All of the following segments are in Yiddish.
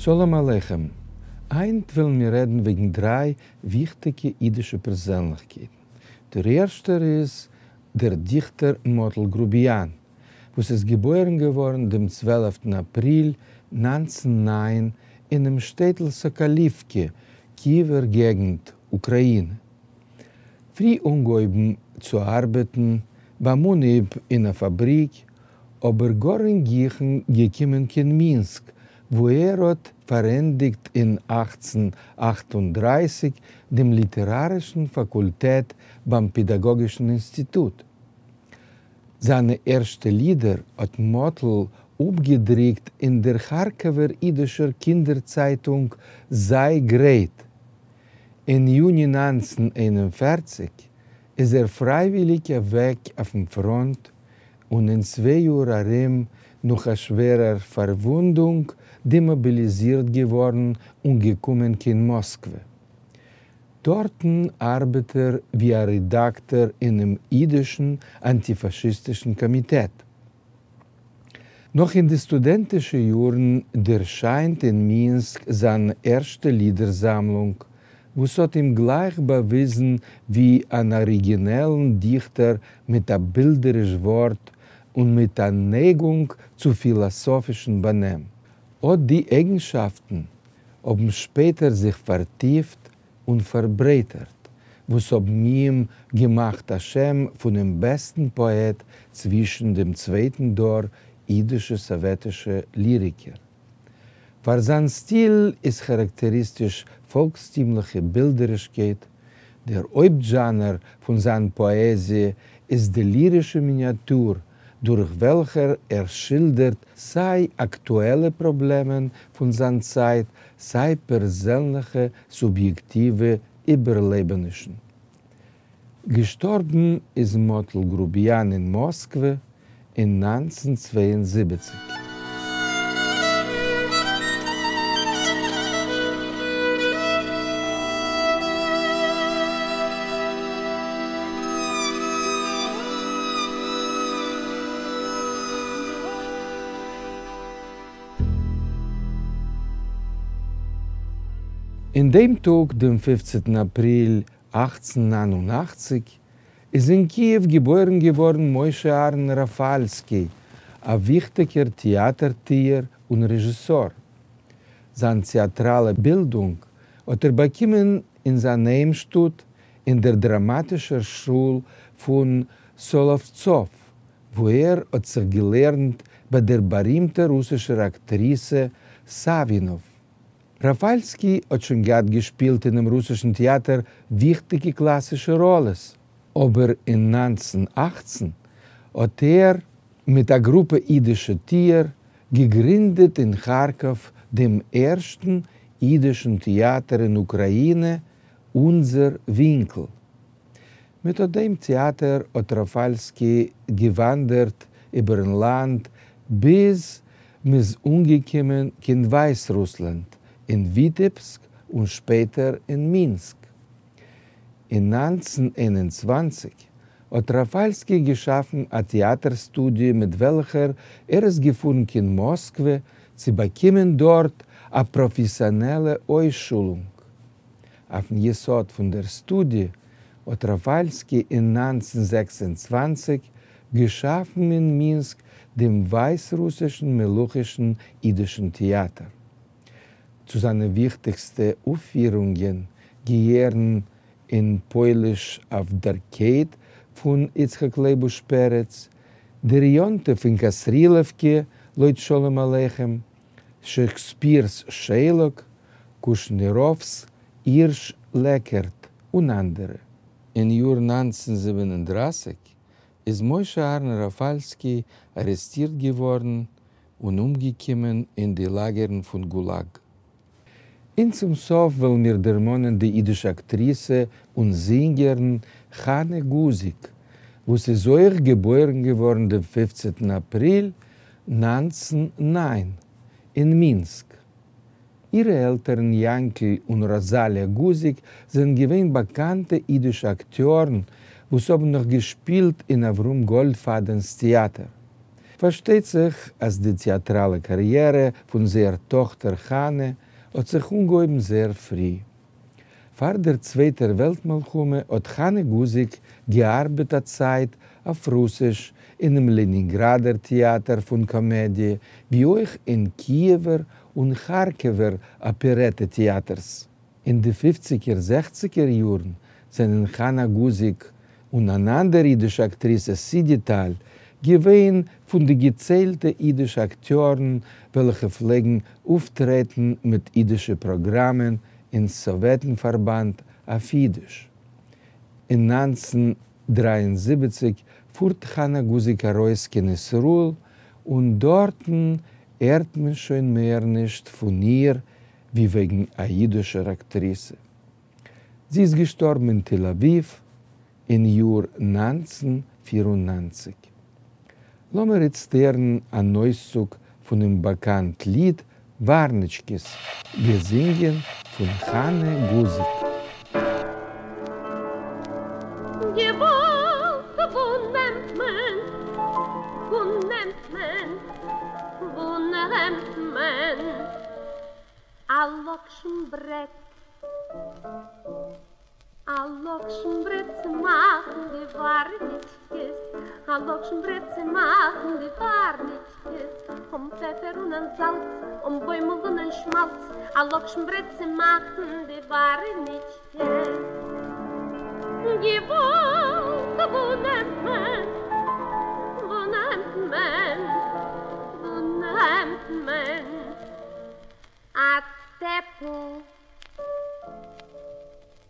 שלום עליכם! היינט וועלן מיר רעדן וועגן דריי וויכטיגע אידישע פערזענליכקייטן. דער ערשטער איז דער דיכטער מאטל גרוביאן, וואס איז געבוירן געווארן דעם צוועלפטן אפריל 1909 אינעם שטעטל סאקאליווקע, קיעווער געגנט, אוקראינע. פרי אנגעהויבן צו ארבעטן ביים אנהייב אין א פאבריק, אבער גאר אין גיכן געקומען קיין מינסק, וואו ער האט פארענדיגט אין 1838 דעם ליטערארישן פאקולטעט ביים פעדאגאגישן אינסטיטוט. זיינע ערשטע לידער האט מאטל אפגעדרוקט אין דער כארקאווער אידישער קינדער צייטונג זיי גרייט. אין יוני 1941 איז ער פרייוויליג אוועק אויפן פראנט און אין צוויי יאר ארום נאך א שווערער פארוואונדונג דעמאביליזירט געווארן און געקומען קיין מאסקווע. דארטן ארבעט ער ווי א רעדאקטאר אינעם אידישן אנטיפאשיסטישן קאמיטעט. נאך אין די סטודענטישע יארן ערשיינט אין מינסק זיין ערשטע לידער-זאמלונג, וואס האט אים גלייך באוויזן ווי אן אריגינעלן דיכטער מיט א בילדעריש ווארט און מיט א נייגונג צו פילאסאפישן באנעם. אט די אייגנשאפטן האבן שפעטער זיך פארטיפט און פארברייטערט, וואס האבן אים געמאכט א שם פונעם בעסטן פאעט צווישן דעם צווייטן דור אידישע סאוועטישע ליריקער. פאר זיין סטיל איז כאראקטעריסטיש פאלקסטימליכע בילדערישקייט, דער הויפט זשאנער פון זיין פאעזיע איז די לירישע מיניאטור, דורך וועלכער ער שילדערט סיי אקטועלע פראבלעמען פון זיין צייט, סיי פערזענליכע סוביעקטיווע איבערלעבענישן. געשטארבן איז מאטל גרוביאן אין מאסקווע אין 1972. אין דעם טאג, דעם פופצנטן אפריל 1889, איז אין קיעוו געבוירן געווארן משה אהרן ראפאלסקי, א וויכטיגער טעאטער-טוער און רעזשיסאר. זיין טעאטראלע בילדונג האט ער באקומען אין זיין היימשטאט אין דער דראמאטישער שול פון סאלאווצאוו, וואו ער האט זיך געלערנט ביי דער בארימטער רוסישער אקטריסע סאווינאוו. ראפאלסקי האט שוין געהאט געשפילט אינעם רוסישן טעאטער וויכטיגע קלאסישע ראלעס, אבער אין 1918 האט ער מיט א גרופע אידישע טוער געגרינדעט אין כארקאוו דעם ערשטן אידישן טעאטער אין אוקראינע, אונדזער ווינקל. מיט אט דעם טעאטער האט ראפאלסקי געוואנדערט איבערן לאנד ביז מ'איז אנגעקומען קיין ווייסרוסלאנד, אין וויטעבסק און שפעטער אין מינסק. אין 1921 האט ראפאלסקי געשאפן א טעאטער סטודיע מיט וועלכער ער איז געפארן קיין מאסקווע צו באקומען דארט א פראפעסיאנעלע אויסשולונג. אויפן יסוד פון דער סטודיע האט ראפאלסקי אין 1926 געשאפן אין מינסק דעם ווייסרוסישן מלוכישן אידישן טעאטער. צו זיינע וויכטיגסטע אויפפירונגען געהערן אין פויליש אויף דער קייט פון יצחק לייבוש פרץ, דער יום-טוב אין קאסרילעווקע לויט שלום עליכם, שעקספיר'ס שיילאק, קושניראוו'ס הירש לעקערט און אנדערע. אין יאר 1937 איז משה אהרן ראפאלסקי ארעסטירט געווארן און אומגעקומען אין די לאגערן פון גולאג. און צום סוף וועלן מיר דערמאנען די אידישע אקטריסע און זינגערין חנה גוזיק, וואס איז אויך געבוירן געווארן דעם פופצנטן אפריל 1909 אין מינסק. אירע עלטערן יאנקל און ראזאליא גוזיק זענען געווען באקאנטע אידישע אקטיארן וואס האבן נאך געשפילט אין אברהם גאלדפאדענ'ס טעאטער. פארשטייט זיך אז די טעאטראלע קאריערע פון זייער טאכטער חנה האט זיך אנגעהויבן זייער פרי. פאר דער צווייטער וועלט מלחמה האט חנה גוזיק געארבעט א צייט אויף רוסיש אינעם לענינגראדער טעאטער פון קאמעדיע, ווי אויך אין קיעווער און כארקעווער אפערעטע טעאטערס. אין די פופציגער זעכציגער יארן זענען חנה גוזיק און אן אנדער אידישע אקטריסע סידי טאל געווען פון די געציילטע אידישע אקטיארן וועלכע פלעגן אויפטרעטן מיט אידישע פראגראמען אין סאוועטן פארבאנד אויף אידיש. אין 1973 פארט חנה גוזיק ארויס קיין ישראל און דארטן הערט מען שוין מער נישט פון איר ווי וועגן א אידישער אקטריסע. זי איז געשטארבן אין תל אביב אין יאר 1994. לאמיר איצט הערן אן אויסצוג פונעם באקאנט ליד ווארניטשקעס, געזינגען פון חנה גוזיק. געוואלד, וואו נעמט מען, וואו נעמט מען, וואו נעמט מען א לאקשן ברעט? א לאקשן ברעט צו מאכן די ווארניטשקעס, א לאקשן ברעט צו מאכן די ווארניטשקעס, אן פעפער און אן זאלץ, אן בוימל און אן שמאלץ, א לאקשן ברעט צו מאכן די ווארניטשקעס. געוואלד, וואו נעמט מען, וואו נעמט מען, וואו נעמט מען א טעפל?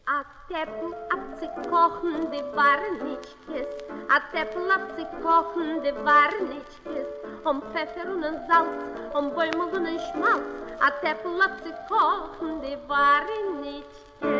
א טעפל אויף צו קאכן די ווארניטשקעס, א טעפל אויף צו קאכן די ווארניטשקעס, אן פעפער און אן זאלץ, אן בוימל און אן שמאלץ, א טעפל אויף צו קאכן די ווארניטשקעס.